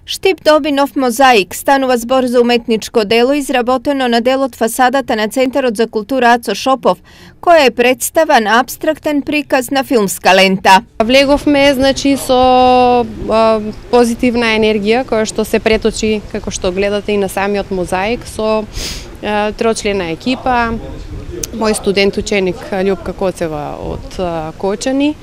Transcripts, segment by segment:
Štip доби нов мозаик, станува збор за уметничко дело изработено на дел од фасадата на Центарот за култура Ацо Шопов, која е представан апстрактен приказ на филмска лента. Влеговме со позитивна енергија која што се преточи, како што гледате и на самиот мозаик, со трочлена екипа, мој студент ученик Љупка Коцева од Кочани,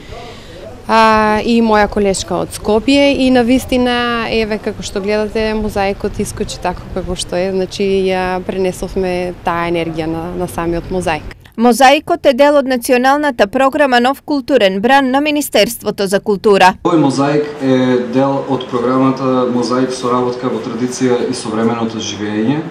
и моја колешка од Скопје, и навистина еве како што гледате мозаикот искочи така како што е, значи ја пренесовме таа енергија на самиот мозаик. Мозаикот е дел од националната програма Нов културен бран на Министерството за култура. Овој мозаик е дел од програмата Мозаик соработка во традиција и современото живење,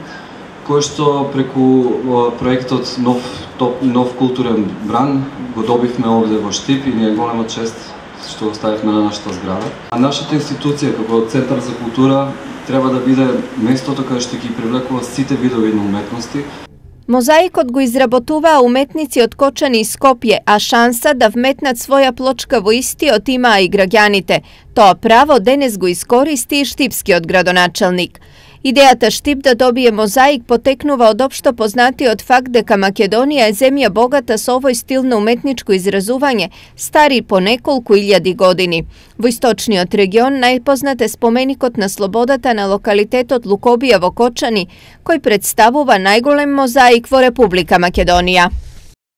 кој што преку проектот Нов културен бран го добивме овде во Štip и ни е голема чест што го ставивме на нашата зграда. А нашата институција како Центар за култура треба да биде местото каде што ги привлекува сите видови на уметности. Мозаикот го изработуваа уметници од Кочани и Скопје, а шанса да вметнат своја плочка во истиот имаа и граѓаните. Тоа право денес го искористи и штипскиот градоначелник. Идејата Štip да добие мозаик потекнува од општо познатиот факт дека Македонија е земја богата со овој стил на уметничко изразување, стари по неколку илјади години. Во источниот регион најпознат е споменикот на слободата на локалитетот Лукобија во Кочани, кој представува најголем мозаик во Република Македонија.